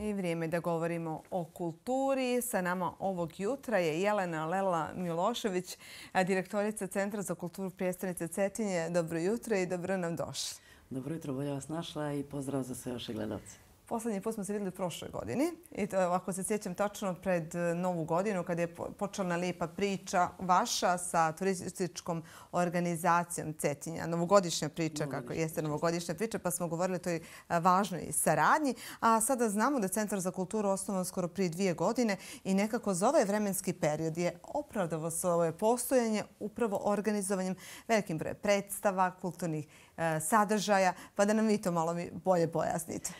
I vrijeme da govorimo o kulturi. Sa nama ovog jutra je Jelena Lela Milošević, direktorica Centra za kulturu prijestolnice Cetinje. Dobro jutro i dobro nam došli. Dobro jutro, bolje vas našla i pozdrav za sve vaše gledalce. Poslednji put smo se vidjeli prošle godini i to, ako se sjećam tačno, pred Novu godinu kada je počela lijepa priča vaša sa turističkom organizacijom Cetinja. Novogodišnja priča, kako jeste novogodišnja priča, pa smo govorili o toj važnoj saradnji. A sada znamo da je Centar za kulturu osnovan skoro prije 2 godine i nekako za ovaj vremenski period je opravdavo svoje postojanje upravo organizovanjem velikim brojem predstava, kulturnih sadržaja, pa da nam vi to malo bolje pojasnite.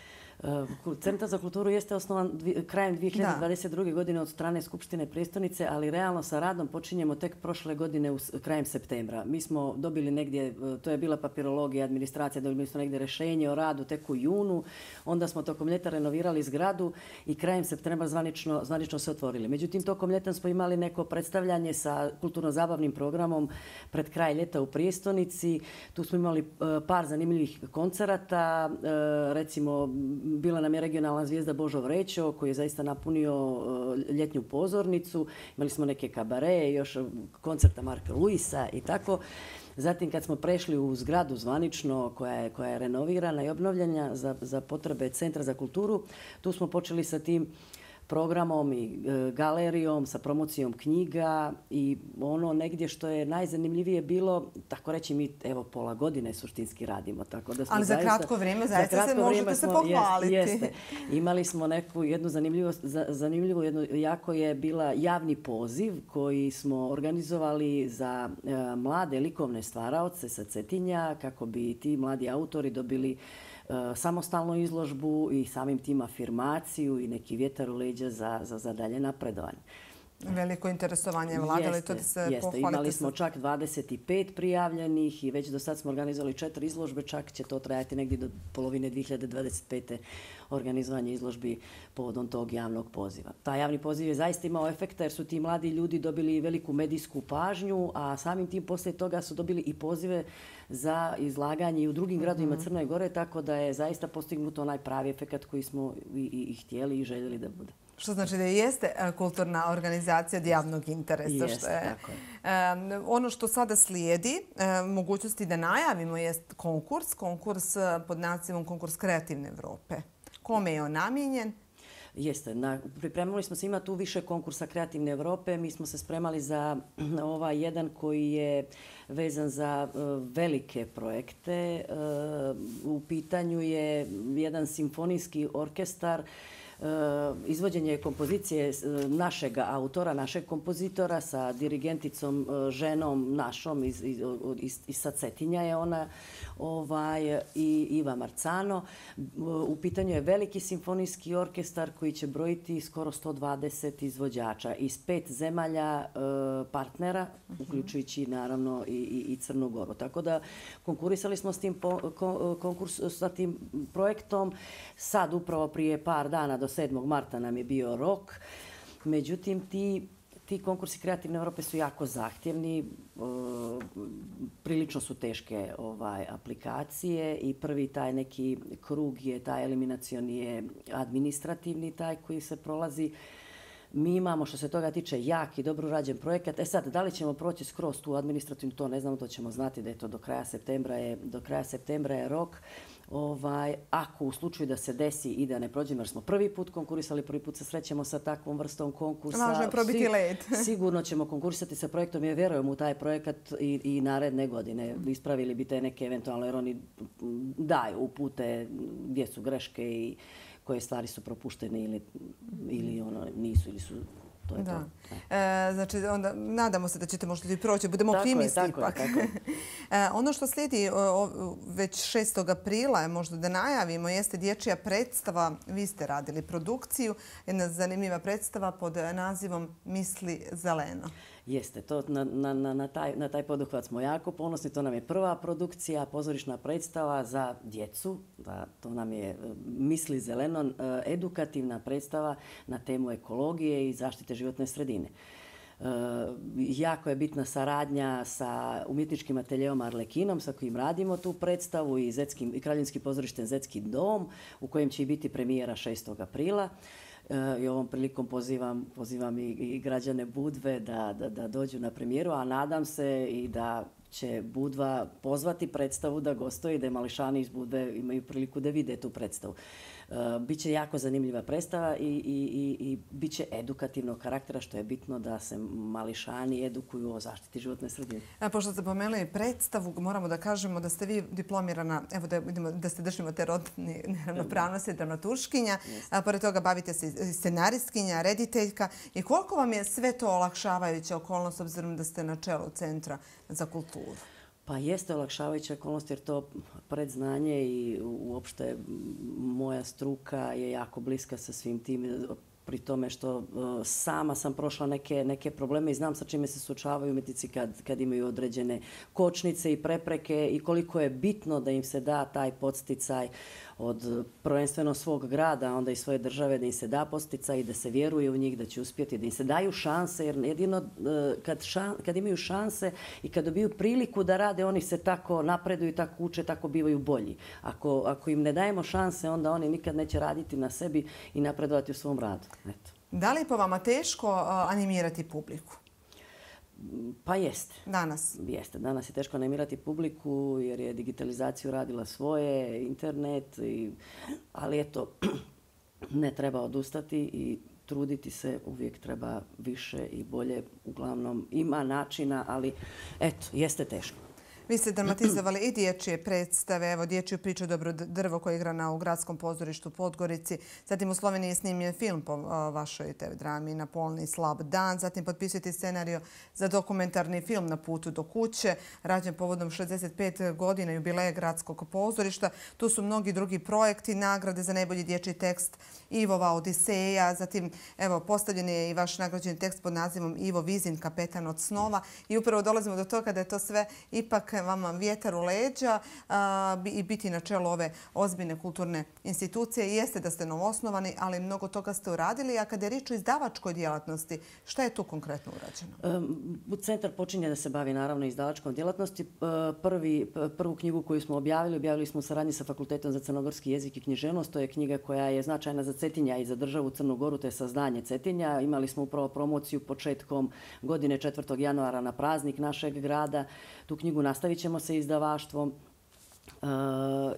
Centar za kulturu jeste osnovan krajem 2022. godine od strane Skupštine prijestolnice, ali realno sa radom počinjemo tek prošle godine krajem septembra. Mi smo dobili negdje, to je bila papirologija, administracija, dobili smo negdje rješenje o radu tek u junu, onda smo tokom ljeta renovirali zgradu i krajem septembra zvanično se otvorili. Međutim, tokom ljeta smo imali neko predstavljanje sa kulturno-zabavnim programom pred kraj ljeta u prijestolnici. Tu smo imali par zanimljivih koncerata, recimo bila nam je regionalna zvijezda Božo Vrećo koji je zaista napunio ljetnju pozornicu. Imali smo neke kabare, još koncerta Marka Luisa i tako. Zatim kad smo prešli u zgradu zvanično koja je renovirana i obnovljena za potrebe Centra za kulturu, tu smo počeli sa tim programom i galerijom, sa promocijom knjiga i ono negdje što je najzanimljivije bilo, tako reći mi evo pola godine suštinski radimo. Tako da smo ali za kratko vrijeme zaista se možete se pohvaliti. Jeste. Imali smo jednu zanimljivu, jako je bila javni poziv koji smo organizovali za mlade likovne stvaraoce sa Cetinja kako bi ti mladi autori dobili samostalnu izložbu i samim tim afirmaciju i neki vjetar u leđa za dalje napredovanje. Veliko interesovanje vlada, ali to da se pohvalite. Imali smo čak 25 prijavljenih i već do sad smo organizovali 4 izložbe, čak će to trajati negdje do polovine 2025. organizovanje izložbi povodom tog javnog poziva. Taj javni poziv je zaista imao efekta jer su ti mladi ljudi dobili veliku medijsku pažnju, a samim tim poslije toga su dobili i pozive za izlaganje i u drugim gradovima Crne Gore, tako da je zaista postignuto onaj pravi efekat koji smo i htjeli i željeli da bude. Što znači da jeste kulturna organizacija od javnog interesa. Jeste, tako je. Ono što sada slijedi, mogućnosti da najavimo, je konkurs pod nazivom Konkurs Kreativne Evrope. Kome je on namijenjen? Jeste. Pripremili smo se, ima tu više konkursa Kreativne Evrope. Mi smo se spremali za ovaj jedan koji je vezan za velike projekte. U pitanju je jedan simfonijski orkestar, izvođenje kompozicije našeg autora, našeg kompozitora sa dirigenticom ženom našom iz sa Cetinja je ona i Iva Marcano. U pitanju je veliki simfonijski orkestar koji će brojiti skoro 120 izvođača iz 5 zemalja partnera, uključujući naravno i Crnu Goru. Tako da konkurisali smo sa tim projektom. Sad upravo prije par dana do 7. marta nam je bio rok. Međutim, ti konkursi Kreativne Evrope su jako zahtjevni, prilično su teške aplikacije i prvi taj neki krug je, taj eliminacioni je administrativni, taj koji se prolazi. Mi imamo, što se toga tiče, jak i dobro urađen projekat. Sad, da li ćemo proći skroz tu administrativnu, to ne znamo, to ćemo znati da je to do kraja septembra je rok. Ako u slučaju da se desi i da ne prođemo, jer smo prvi put konkurisali, prvi put se srećemo sa takvom vrstom konkursa. Važno je probiti led. Sigurno ćemo konkurisati sa projektom jer vjerujemo u taj projekat i naredne godine. Ispravili bi te neke eventualno, jer oni daju upute gdje su greške i koje stvari su propuštene ili nisu ili su. To je to. Znači, onda nadamo se da ćete možda i proći, budemo optimisti ipak. Ono što slijedi već 6. aprila, možda da najavimo, jeste dječja predstava. Vi ste radili produkciju, jedna zanimljiva predstava pod nazivom Misli zeleno. Jeste, na taj poduhvat smo jako ponosni. To nam je prva produkcija, pozorišna predstava za djecu. To nam je Misli zeleno, edukativna predstava na temu ekologije i zaštite životne sredine. Jako je bitna saradnja sa umjetničkim ateljeom Arlekinom sa kojim radimo tu predstavu i Kraljevskim pozorištem Zetski dom u kojem će i biti premijera 6. aprila. I ovom prilikom pozivam i građane Budve da dođu na premijeru, a nadam se i da će Budva pozvati predstavu da gostuje i da mališani iz Budve imaju priliku da vide tu predstavu. Biće jako zanimljiva predstava i bit će edukativnog karaktera, što je bitno da se mališani edukuju o zaštiti životne sredine. Pošto ste pomenuli predstavu, moramo da kažemo da ste vi diplomirana, evo da ste držimo te rodne neravnopravnosti, dramaturškinja, a pored toga bavite se scenaristkinja, rediteljka. I koliko vam je sve to olakšavajuća okolnost, obzirom da ste na čelu Centra za kulturu? Pa jeste olakšavajuća okolnost jer to predznanje i uopšte moja struka je jako bliska sa svim tim, pri tome što sama sam prošla neke probleme i znam sa čime se suočavaju umjetnici kad imaju određene kočnice i prepreke i koliko je bitno da im se da taj podsticaj od prvenstveno svog grada, onda i svoje države, da im se da podsticaj i da se vjeruje u njih da će uspjeti, da im se daju šanse, jer jedino kad imaju šanse i kad dobiju priliku da rade, oni se tako napreduju, tako uče, tako bivaju bolji. Ako im ne dajemo šanse, onda oni nikad neće raditi na sebi i napredovati u svom radu. Eto. Da li je po vama teško animirati publiku? Pa jeste. Danas? Jeste. Danas je teško animirati publiku jer je digitalizaciju radila svoje, internet, ali eto, ne treba odustati i truditi se, uvijek treba više i bolje. Uglavnom ima načina, ali eto, jeste teško. Vi ste dramatizovali i dječje predstave, evo dječju priču Dobro drvo koja je igrana u Gradskom pozorištu u Podgorici. Zatim u Sloveniji je snimljen film po vašoj TV drami Na polni slab dan. Zatim potpisujete scenarijo za dokumentarni film Na putu do kuće, rađen povodom 65 godina jubileja Gradskog pozorišta. Tu su mnogi drugi projekti, nagrade za najbolji dječji tekst Ivova Odiseja. Zatim evo postavljen je i vaš nagrađeni tekst pod nazivom Ivo Vizin, kapetan od snova. I upravo dolazimo do toga da je to sve ipak vama vjetar u leđa i biti na čelu ove ozbiljne kulturne institucije. Jeste da ste novoosnovani, ali mnogo toga ste uradili. A kada je riječ o izdavačkoj djelatnosti, šta je tu konkretno urađeno? Centar počinje da se bavi naravno izdavačkom djelatnosti. Prvu knjigu koju smo objavili smo u saradnji sa Fakultetom za crnogorski jezik i književnost. To je knjiga koja je značajna za Cetinja i za državu Crnu Goru, to je Sazdanje Cetinja. Imali smo upravo promociju početkom godine 4. januara na praznik našeg grada. Tu knjigu nastavit ćemo sa izdavaštvom.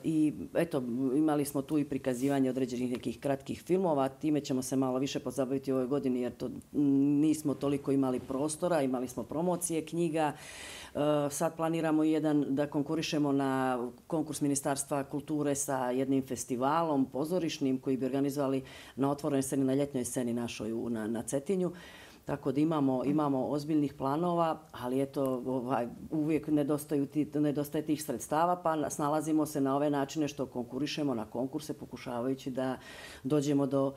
I eto, imali smo tu i prikazivanje određenih nekih kratkih filmova. Time ćemo se malo više pozabaviti u ovoj godini jer to nismo toliko imali prostora. Imali smo promocije knjiga. Sad planiramo da konkurišemo na konkurs Ministarstva kulture sa jednim festivalom pozorišnim koji bi organizovali na otvorenoj sceni, na ljetnoj sceni našoj na Cetinju. Tako da imamo ozbiljnih planova, ali eto, uvijek nedostaje tih sredstava, pa snalazimo se na ove načine što konkurišemo na konkurse, pokušavajući da dođemo do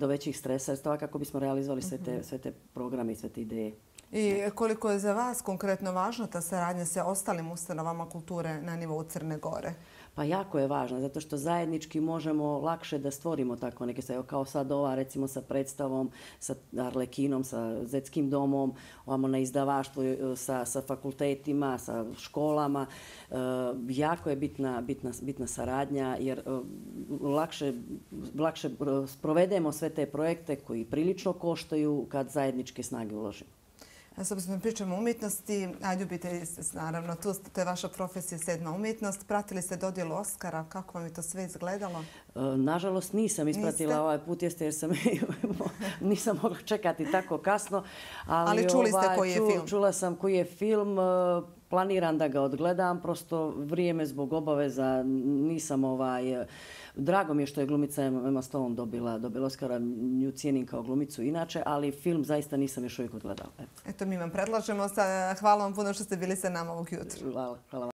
većih sredstava kako bismo realizovali sve te programe i sve te ideje. I koliko je za vas konkretno važna ta saradnja sa ostalim ustanovama kulture na nivou Crne Gore? Pa jako je važno, zato što zajednički možemo lakše da stvorimo tako neke stvari. Kao sad ova, recimo sa predstavom, sa Arlekinom, sa Zetskim domom, ovamo na izdavaštvu, sa fakultetima, sa školama. Jako je bitna saradnja jer lakše provedemo sve te projekte koji prilično koštaju kad zajedničke snage uložimo. S obzirom pričamo o umjetnosti, a ljubite naravno, to je vaša profesija, 7. umjetnost. Pratili ste dodjelu Oskara, kako vam je to sve izgledalo? Nažalost nisam ispratila ovaj put, jer nisam mogla čekati tako kasno. Ali čuli ste koji je film? Čula sam koji je film. Planiram da ga odgledam, prosto vrijeme zbog obaveza nisam Drago mi je što je glumica Emma Stone dobila Oskara, nju cijenim kao glumicu inače, ali film zaista nisam još uvijek odgledala. Eto, mi vam predlažemo. Hvala vam puno što ste bili sa nama ovog jutra. Hvala.